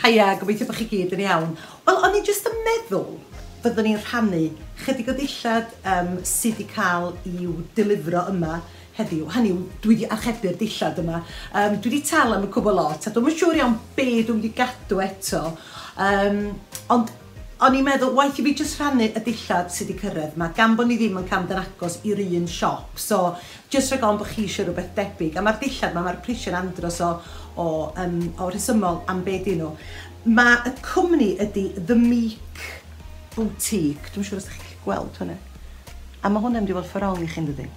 Haia, gobeithio bod chi gyd yn iawn. Wel, o'n i jyst yn meddwl fyddwn ni'n rhannu chydig o ddillad sydd wedi cael i'w delifro yma heddiw. Hynny yw, dwi wedi archebu'r dillad yma. Dwi wedi talu am y cwbl lot, a dwi'm yn siŵr iawn be dwi'n mynd i gadw eto. Ond o'n i'n meddwl, waeth i fi jyst rhannu y dillad sydd wedi cyrraedd yma, gan bod ni ddim yn cael mynd yn agos i'r un siop. So, jyst rhag ofn bod chi eisiau rhywbeth debyg. A mae'r dillad yma, mae'r prisiau'n andros o rhesymol am be dyn nhw. Mae y cwmni ydy The Meek Boutique. Dwi'n siŵr os ydych chi'n gallu gweld hwnna. A mae hwnna'n mynd i fod ffordd wrong i chi'n dydi.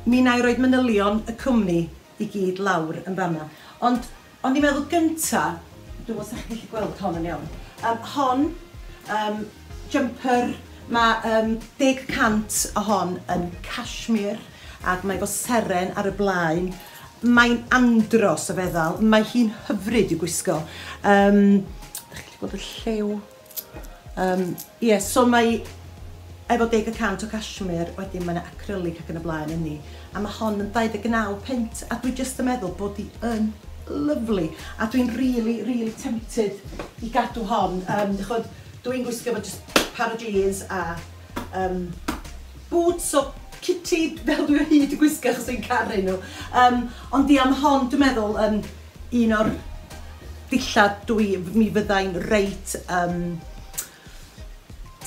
Mi wna i roed manylion y cwmni i gyd lawr yn fanna. Ond o'n i'n meddwl gynta, dwi'n meddwl os ydych chi'n gallu gweld hon yn iawn. Hon, jumper, mae 10% o hon yn cashmere ac mae efo seren ar y blaen. Mae'n andros o feddal, mae hi'n hyfryd i'w gwisgo. Ydych chi'n gallu gweld y lliw? Ie, so mae efo 10% o cashmere, wedyn mae yna acrylic ac yn y blaen yn ni. A mae hon yn 29 punt, a dwi jyst yn meddwl bod hi yn lyfli. A dwi'n really, really tempted i gadw hon. Chod, dwi'n gwisgo efo just par o jeans a boots o Kitty fel dwi o hyd yn gwisgo achos dwi'n caru nhw. Ond di am hon, dwi'n meddwl, yn un o'r dillad mi fyddai'n reit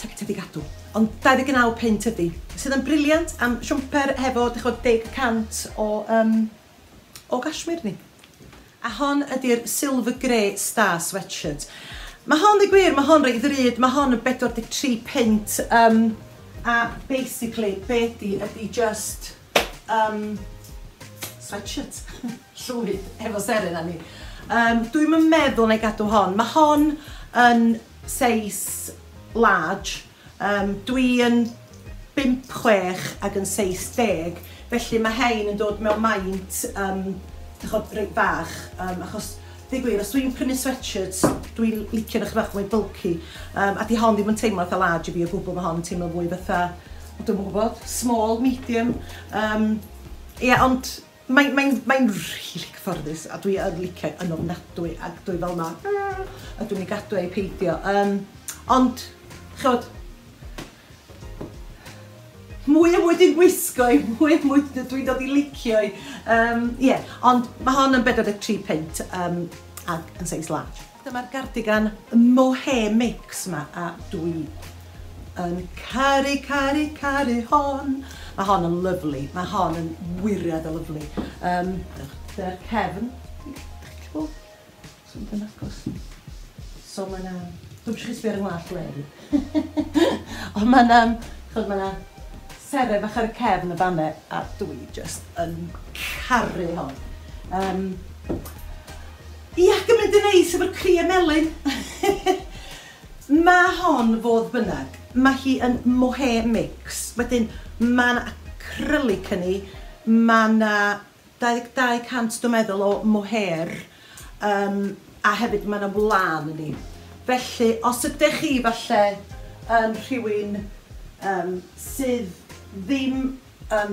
tempted i gadw. Ond 29 punt ydy, sydd yn brilliant am siwmper hefo, dych chi'n 10% o cashmere ni. A hon ydy'r Silver Grey Star Sweatshirt. Mae hon, dweud gwir, mae hon reit ddrud, mae hon yn 43 punt. A basically, be ydy, ydy just sweatshirt llwyd efo seren arni. Dwi'm yn meddwl na i gadw hon. Mae hon yn seis large. Dwi yn 5'6" ac yn seis 10. Felly mae hein yn dod mewn maint chod, reit fach. Achos, dweud gwir, os dwi'n prynu sweatshirts, dwi'n licio nhw bach mwy bulky. A di hon ddim yn teimlo fatha large i fi o gwbl, mae hon yn teimlo fwy fatha, dwi'n gwybod, small, medium. Ie, ond mae'n really cyfforddus a dwi yn licio yn ofnadwy ac dwi fel ma, a dwi'n ei gadw ei peidio. Ond, chod, mwy a mwy dwi'n gwisgo i, mwy a mwy dwi'n dod i licio i. Yeah, ond mae hon yn 43 punt ac yn seis large. Dyma'r gardigan mohair mix yma a dwi yn caru, caru, caru hon. Mae hon yn lyfli. Mae hon yn wiriad o lyfli. Dyna'r cefn. Dych chi'n gweld? So, yn agos. So mae yna... Dwi'n eisiau chi sbio ar yng ngwallt le. Ond mae yna... Chod, mae yna seren bach ar y cefn y fanne a dwi just yn caru hon. Ia, gymryd yn neis efo'r cri melyn. Mae hon fodd bynnag, mae hi yn mohair mix. Wedyn, mae yna acrylic yn hi, mae yna 22% dwi'n meddwl o mohair, a hefyd mae yna wlân yn hi. Felly, os ydych chi falle yn rhywun sydd ddim yn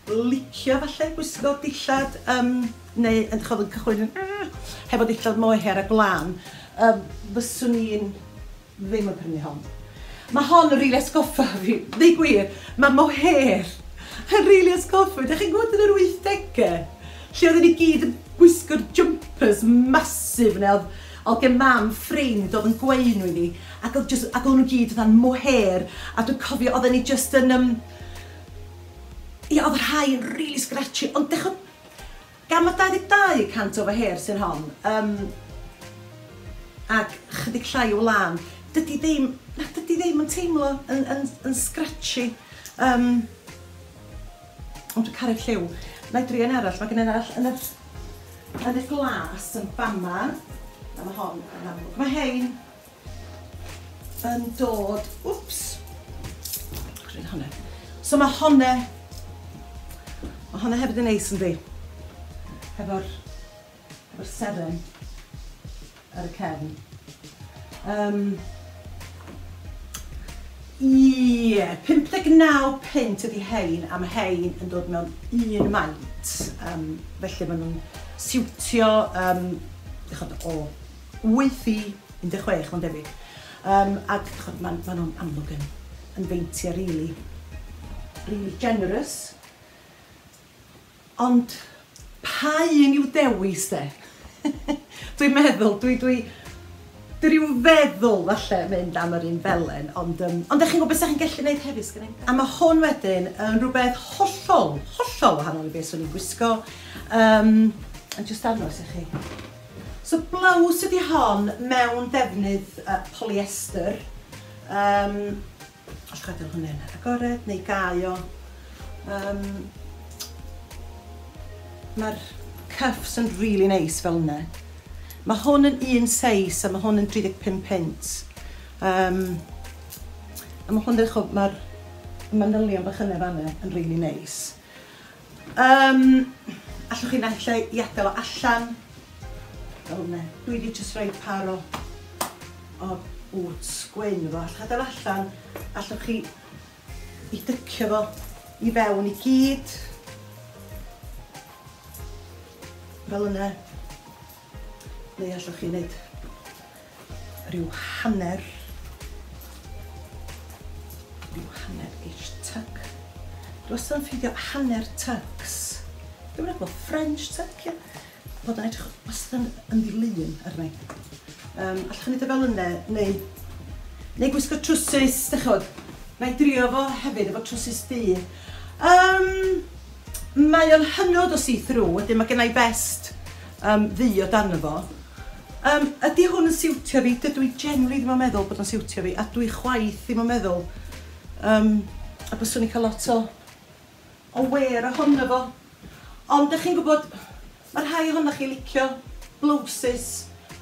licio falle gwisgo dillad neu yn chod yn cychwyn hefo dillad mohair a gwlân, fyswn i'n ddim yn prynu hon. Mae hon yn rili atgoffa fi, dweud gwir, mae mohair yn rili atgoffa fi. Dych chi'n gwybod yn yr 80au? Lle oedden ni gyd yn gwisgo'r jumpers massive neu oedd gen mam ffrind oedd yn gweu nhw i ni ac oedd nhw gyd fatha'n mohair a dwi'n cofio oedden ni just yn ia, oedd rhai yn really scratchy, ond dech gan mae 22% o mohair sy'n hon, ac chydig llai o wlân, dydy ddim, na, dydy ddim yn teimlo yn scratchy. Ond dwi'n caru'r lliw. Na i drio un arall, mae gen i un arall yn y glas yn fama. A mae hon yn amlwg. Mae hein yn dod, wps, gwneud hwnna. So mae hwnna hefyd yn neis yndi? Hefo seren ar y cefn. Ie, 59 punt ydi hein, a mae hein yn dod mewn un maint. Felly maen nhw'n siwtio Chod, o 8 i 16, mae'n debyg. Ac chod, ma nhw'n amlwg yn feintiau really, really generous. Ond pa un i'w dewis de? Dwi'n meddwl, dwi ryw feddwl falle mynd am yr un felen, ond ydych chi'n gwybod beth chi'n gallu gwneud hefyd, sgynna i? A mae hwn wedyn yn rhywbeth hollol, hollol wahanol i beth swn i'n gwisgo. Yn jyst dangos i chi. So blouse ydy hon mewn defnydd polyester. Allwch adael hwnna'n agored neu gau o. Mae'r cuffs yn really neis fel yna. Mae hwn yn un seis a mae hwn yn 35 punt. A mae hwn, mae'r manylion bach yna fanna yn really neis. Allwch chi naill ai i adael o allan. Fel yna. Dwi wedi jyst rhoi par o boots gwyn efo. Allwch adael allan. Allwch chi i dycio fo i fewn i gyd. Fel yna. Neu allwch chi wneud rhyw hanner ish tuck. Dwi wastad yn ffeindio hanner tucks. Dwi'n meddwl French tuck, ia. Bod yn edrych wastad yn ddilyn arna i. Allwch chi wneud o fel yna, neu gwisgo trwsus, dych chi'n gwybod. Na i drio fo hefyd efo trwsus du. Mae o'n hynod o see-through, wedyn mae gen i vest ddu o dan fo. Ydy hwn yn siwtio fi? Dydw i generally ddim yn meddwl bod o'n siwtio fi, a dwi chwaith ddim yn meddwl. A byswn i'n cael lot o wear ohono fo. Ond dych chi'n gwybod, mae rhai ohonoch chi licio blouses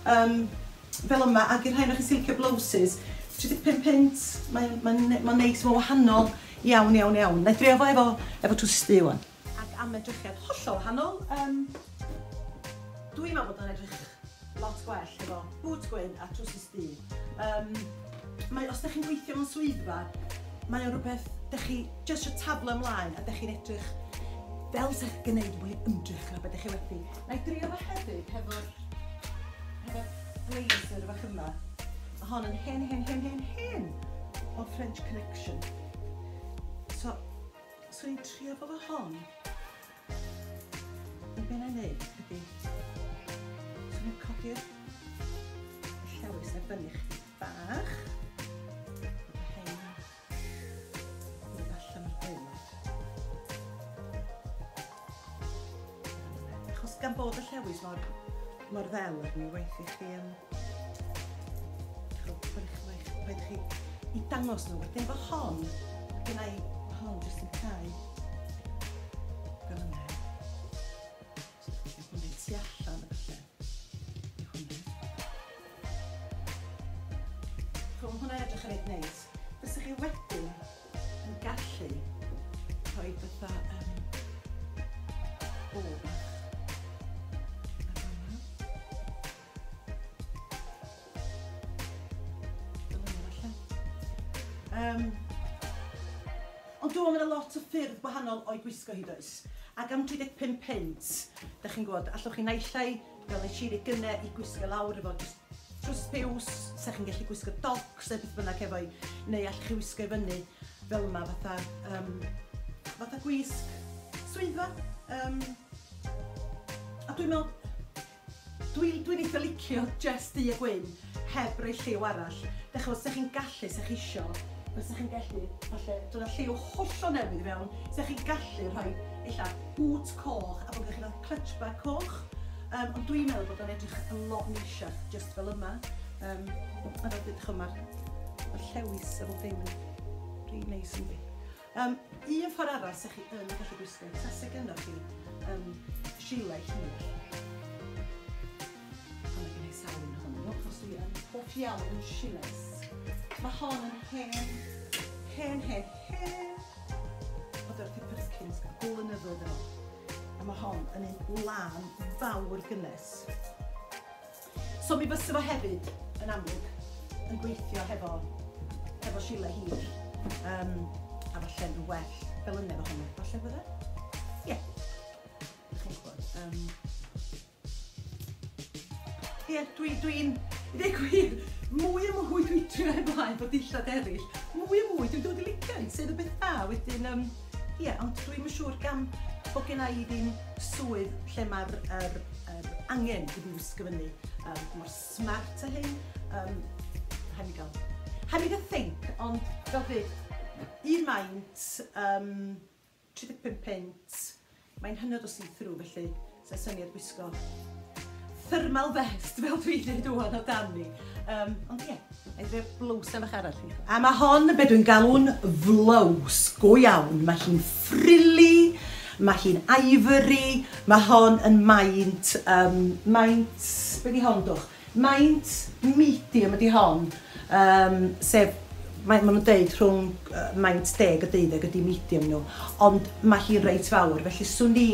fel yma, ac i'r rhai ohonoch chi sy'n licio blouses, 35 punt, mae'n neis, mae'n wahanol iawn, iawn, iawn. Na i drio fo efo trwsus du wan. Ac am edrychiad hollol wahanol, dwi'n meddwl bod o'n edrych lot gwell efo bŵt gwyn a trwsus du. Os ydych chi'n gweithio mewn swyddfa, mae o'n rhywbeth, ydych chi jyst eisiau taflu ymlaen a ydych chi'n edrych fel sa'ch chi'n gwneud mwy ymdrech na beth ydych chi wedi. Na i drio fo hefyd hefo'r blazer fach yma. Mae hon yn hen, hen, hen, hen, hen o French Connection. So, swn i'n trio fo hon. Be na i wneud ydy, swn i'n codi'r llewis ar fyny chdi bach. Hein mynd allan o'r gwaelod. Achos gan bod y llewis mor ddel arni, waeth i chi waeth chi i dangos nhw. Wedyn fo hon, gen i hon jyst yn cau fel yna. So, hwnna'n tu allan y falle. I hwnna. Chw, mae hwnna'n edrych yn reit neis. Fysa chi wedyn yn gallu rhoi fatha bow bach ar fan'na. Fel yna falle. Ond dwi'n meddwl mae 'na lot o ffyrdd gwahanol o'i gwisgo hi does. Ac am 35 punt, dych chi'n gwybod, allwch chi naill ai, fel nes i gynne, i gwisgo lawr efo jyst trws piws, sa chi'n gallu gwisgo docs neu beth bynnag efo i, neu allwch chi wisgo i fyny fel yma fatha gwisg swyddfa. A dwi'n meddwl, dwi'n eitha licio just du a gwyn, heb roi lliw arall. Dych chi'n gwybod, sa chi'n gallu, sa chi isio, fysa chi'n gallu, falle, dod â lliw hollol newydd i fewn, sa chi'n gallu rhoi, ella, bŵt coch, a bod chi'n cael clutch bag coch. Ond dwi'n meddwl bod o'n edrych yn lot neisiach, just fel yma. A fel dydych chi'n, mae'r llewis a bob dim yn rili neis yndi. Un ffordd arall sa chi yn gallu gwisgo, tase gynnoch chi gilet hir. Ond mae gen i sawl un ohonyn nhw, achos dwi yn hoff iawn yn gilets. Mae hon yn hen, hen, hen, hen o Dorothy Perkins blynyddoedd yn ôl. A mae hon yn un lân fawr gynnes. So mi fysa fo hefyd, yn amlwg, yn gweithio hefo gilet hir. A falle yn well fel yna efo hwnna. Falle fydde? Ie. Chi'n gwybod. Ie, dwi'n, i ddweud gwir, mwy a mwy dwi'n trio ymlaen bod dillad eraill, mwy a mwy dwi'n dod i licio hi, sydd y beth da. Wedyn, ie, ond dwi'n siŵr gan bod gen i ddim swydd lle mae'r er angen i fi wisgo fyny mor smart a hyn. Rhaid mi gael think, ond fel dweud, un maint, 35 punt, mae'n hynod o see-through, felly sa'n syniad gwisgo thermal vest fel dwi'n dweud wan o dani. Ond ie, yeah, ei drio blows am bach arall i. A mae hon yn beth dwi'n galw'n flows go iawn. Mae hi'n frilly, mae hi'n ivory, mae hon yn maint, be di hon dwch? Maint medium ydi hon, sef mae nhw'n deud rhwng maint 10 a 12 ydi medium nhw, ond mae hi'n reit fawr, felly swn i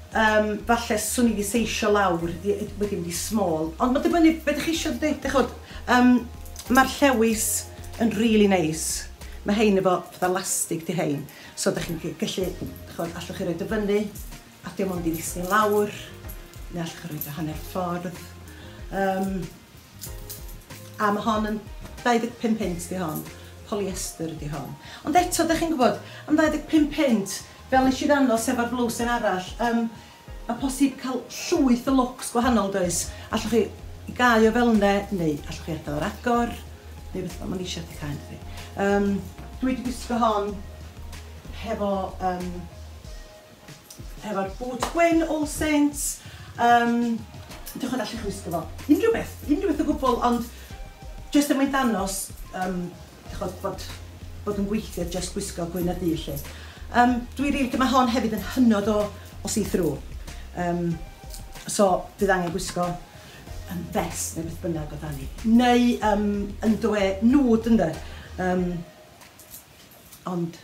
falle swn i wedi seisio lawr wedi mynd i small. Ond mae'n dibynnu beth ydych chi eisiau dweud. Dych chod, mae'r llewis yn really nice. Mae hein efo fatha lastig di hein. So ydych chi'n gallu, dych chod, allwch chi roid o fyny, a dim ond i ddisgyn lawr, neu allwch chi roid o hanner ffordd. A mae hon yn 25 punt di hon. Polyester ydi hon. Ond eto, ydych chi'n gwybod, am 25 punt, fel nes i ddangos efo'r blowsen arall, mae posib cael llwyth o looks gwahanol, does? Allwch chi i gau o fel yna, neu allwch chi adael ar agor, neu beth mae'n eisiau chi cael, dydi. Dwi wedi gwisgo hon hefo'r boot gwyn All Saints. Diolch yn allwch chi wisgo fo. Unrhyw beth o gwbl, ond jyst er mwyn danos chod, bod yn gweithio jyst gwisgo gwyn a du lle. Dwi'n rili, mae hon hefyd yn hynod o see-through. So, fydd angen gwisgo vest neu beth bynnag o dani. Neu underwear nude, ynddo. Ond,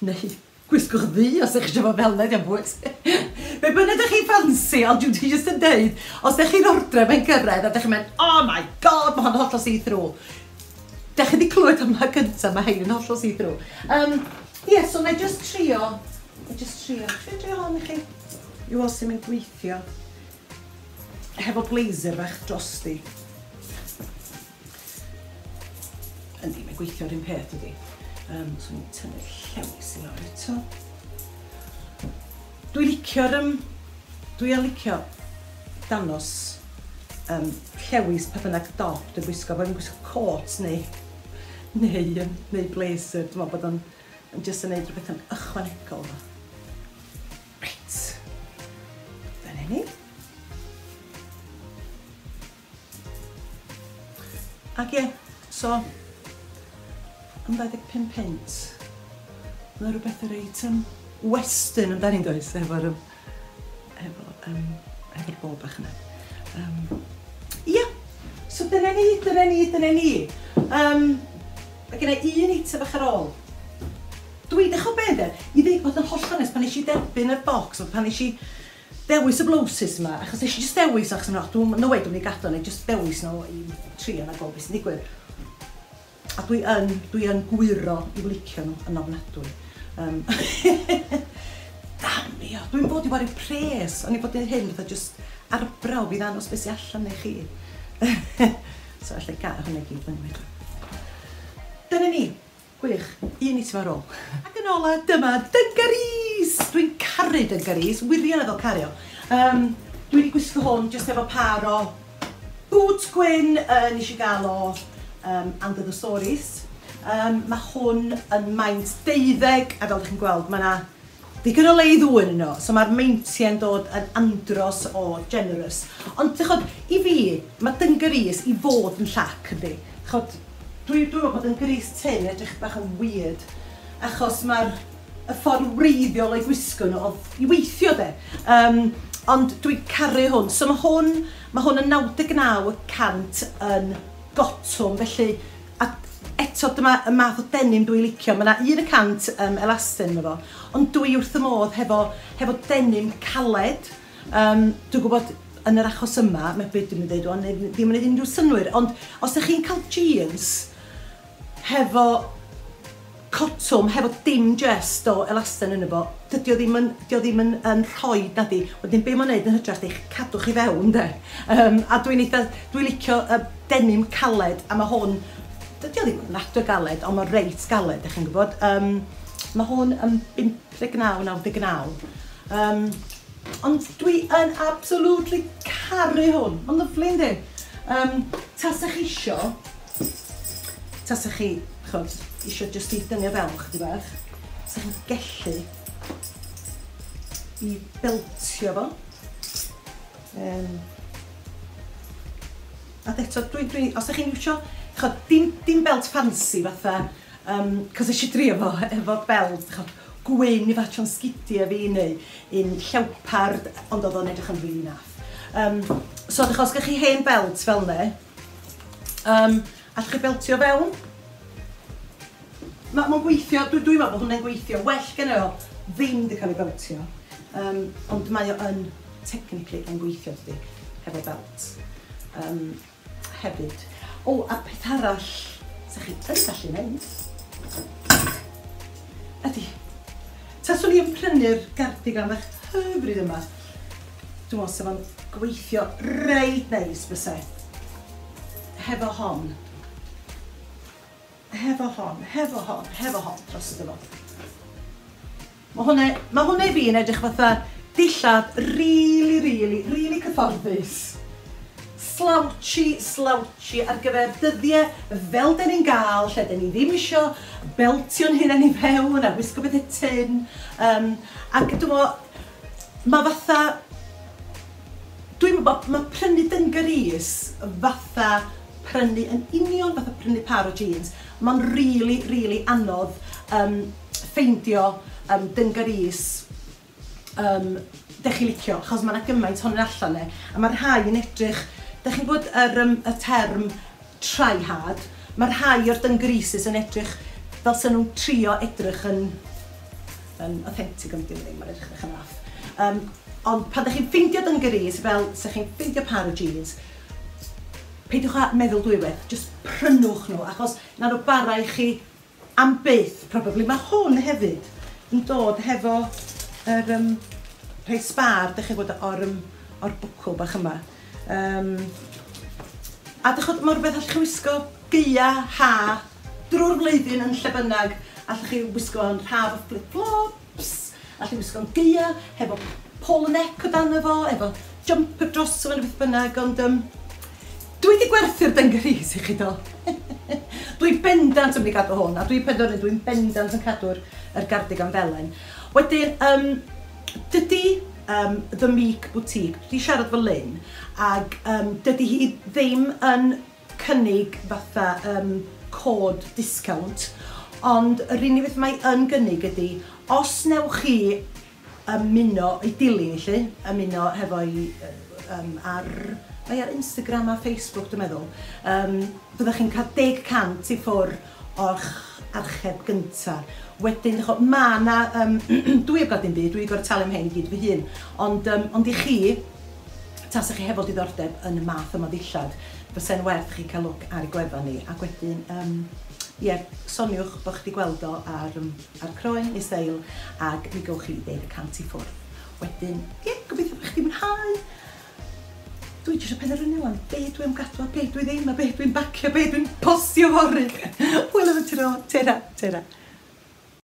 neu gwisgwch ddu os ydych chi eisiau fod fel yna, diolch bwys. Be bynnag ydych chi'n ffansi, ond dwi'n jyst yn deud, os ydych chi'n ordro fe'n gyrraedd a ydych chi'n mynd, "Oh my God, mae hon hollol see-through." Dych chi wedi clywed yma gyntaf, mae hein yn hollol see-through. Ie, yeah, so na i just trio hon i chi. I weld sy'n mynd gweithio. Hefo blazer bach drosti. Yndi, mae'n gweithio'r un peth ydi. So ni'n tynnu'r llewis i lawr eto. Dwi yn licio danos llewis pa bynnag dop dwi'n gwisgo, bod fi'n gwisgo cot neu blazer, dwi'n meddwl bod o'n yn jyst yn neud rhywbeth yn ychwanegol fo. Reit. Dyna ni. Ac ie, so, am 25 punt, mae rhywbeth reit western amdani'n does, efo'r bow bach yna. Ia, so dyna ni, dyna ni, dyna ni. Mae gen i un eitem bach ar ôl. Dwi, dechrau be de, i ddweud bod yn hollol onest, pan nes i derbyn y box, pan nes i dewis y blouses yma, achos nes i just dewis, achos no, dwi'n, no way, dwi'n mynd i gadw, neu just dewis nhw i trio na gweld beth sy'n digwydd. A dwi yn gwyro i licio nhw yn ofnadwy. Damio, dwi'n bod i wario pres, o'n i bod yn hyn, fatha just arbrawf i ddangos beth sy'n allan neu chi. So, allai gael hwnna i gyd fyny wedyn. Dyna ni. Gwych. Un eitem ar ôl. Ac yn ola, dyma dungarees! Dwi'n caru dungarees, wirioneddol caru o. Dwi wedi gwisgo hwn jyst efo par o boots gwyn nes i gael o And Other Stories. Mae hwn yn maint 12, a fel ydych chi'n gweld, mae yna ddigon o le i ddwyn yno, so mae'r meintiau'n dod yn andros o generous. Ond dych chod, i fi, mae dungarees i fod yn llac, yndi. Chod, dwi'n meddwl bod dungarees tyn edrych bach yn weird, achos mae'r y ffordd wreiddiol o'i gwisgo nhw oedd i weithio de. Ond dwi'n caru hwn. So mae hwn yn 99% yn gotwm, felly a eto dyma y math o denim dwi'n licio. Mae yna 1% elastane yno fo, ond dwi wrth y modd hefo denim caled. Dwi'n gwybod yn yr achos yma, mae beth dwi'n dweud, ond ddim yn gwneud unrhyw synwyr, ond os ydych chi'n cael jeans hefo cotwm, hefo dim just o elastane yno fo, dyn Dydy o ddim yn, dio ddim yn rhoi, nadi. Wedyn be mae'n neud yn hytrach ydy cadw chi fewn, de. A dwi'n eitha, dwi'n licio y denim caled, a mae hwn, dydy o ddim yn ofnadwy o galed, ond mae'n reit galed, ydych chi'n gwybod. Mae hwn yn 59.99. Ond dwi yn absolutely caru hwn. Mae'n lyfli, yndi? Tasach chi isio, tasach chi, chod, isio jyst i dynnu o fewn chydig bach, sa chi'n gellu i beltio fo. A eto, dwi, os ydych chi'n iwsio, chod, dim belt fancy fatha, cos eisiau drio fo efo belt, chod, gwyn i fatsio'n sgidiau fi neu un llewpard, ond oedd o'n edrych yn rili naff. So, dych, os gynnoch chi hen belt fel 'ne, allwch chi beltio fewn. Mae'n ma gweithio, dwi meddwl bod hwnna'n gweithio. Well gen o ddim di cael ei beltio. Ond mae o yn technically yn gweithio, dydy, hefo belt. Hefyd. O, a peth arall sa chi yn gallu neud ydy, taswn i yn prynu'r gardigan bach hyfryd yma, dwi'n meddwl sef o'n gweithio reit neis byse. Hefo hon. Hefo hon, hefo hon, hefo hon dros fo. Mae hwnna i fi yn edrych fatha dillad really, really, really cyfforddus. Slouchy, slouchy ar gyfer dyddiau fel den ni'n gael, lle den ni ddim isio beltio'n hunain i fewn a wisgo bethau tyn. Ac dwi'n meddwl, mae fatha... Dwi'n meddwl, mae prynu dungarees fatha prynu, yn union fatha prynu par o jeans. Mae'n really, really anodd ffeindio dungarees dech chi licio, achos mae yna gymaint ohonyn allan 'ne, a mae rhai yn edrych, dech chi'n gwybod y term try hard, mae rhai o'r dungarees yn edrych fel sy'n nhw'n trio edrych yn authentic, ond dim ddim, mae'n edrych yn naff. Ond pan dych chi'n ffeindio dungarees, fel sa chi'n ffeindio par o jeans, peidiwch â meddwl dwywaith, just prynwch nhw, achos na nhw bara i chi am byth, probably. Mae hwn hefyd yn dod hefo yr rhai sbar, dych chi'n gwybod, o'r bwcl bach yma. A dych chi'n, mae rhywbeth allwch chi wisgo gaea, ha, drwy'r flwyddyn yn lle bynnag. Allwch chi wisgo yn haf o flip-flops, allwch chi wisgo'n gaea, hefo polo neck o dan fo, efo jumper dros o neu beth bynnag, ond dwi wedi gwerthu'r dungarees i chi do. Dwi'n bendant yn mynd i gadw hwn, a dwi'n penderfynu dwi'n bendant yn cadw'r yr gardigan felen. Wedyn, dydy The Meek Boutique, dwi wedi siarad efo Lynn, ac dydy hi ddim yn cynnig fatha cod discount, ond yr unig beth mae yn gynnig ydy, os newch chi ymuno, i dilyn i lly, ymuno hefo'i ar, mae ar Instagram a Facebook dwi'n meddwl, byddwch chi'n cael 10% i ffwr o'ch archeb gynta. Wedyn, ch'o, ma' 'na, dwi heb gael dim byd, dwi'n gorfod talu am hyn i gyd fy hun, ond i chi, tasach chi hefo diddordeb yn y math yma o ddillad, fysa'n werth chi cael look ar ei gwefan ni, ac wedyn, ie, soniwch bod chi wedi gweld o ar Croen neu Steil, ac mi gowch chi 10% i ffwrdd. Wedyn, ie, gobeithio bod chi wedi mwynhau. Dwi jyst yn penderfynu wan, be dwi am gadw a be dwi ddim, a be dwi'n bacio, be dwi'n postio fory. Hwyl am y tro, tera, tera.